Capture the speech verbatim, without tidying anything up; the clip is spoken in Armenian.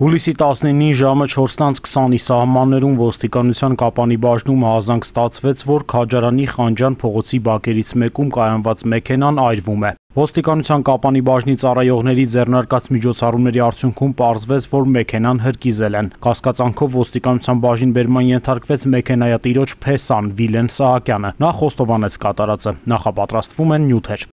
Հուլիսի տասնինին ժամը չորս քսանի սահմաններում ոստիկանության Կապանի բաժնում հազանգ ստացվեց, որ Քաջարյանի Խանջյան փողոցի բակերից մեկում կայանված մեքենան այրվում է։ Ոստիկանության Կապանի բաժնի ծառայողների ձեռնարկած միջոցառումների արդյունքում պարզվեց, որ մեքենան հրկիզել են։ Կասկածանքով ոստիկանության բաժին բերման ենթարկվեց մեքենայատիրոջ փեսան Վիլեն Սահակյանը։ Նա խոստովանեց կատարածը։ Նախապատրաստվում են նյութեր։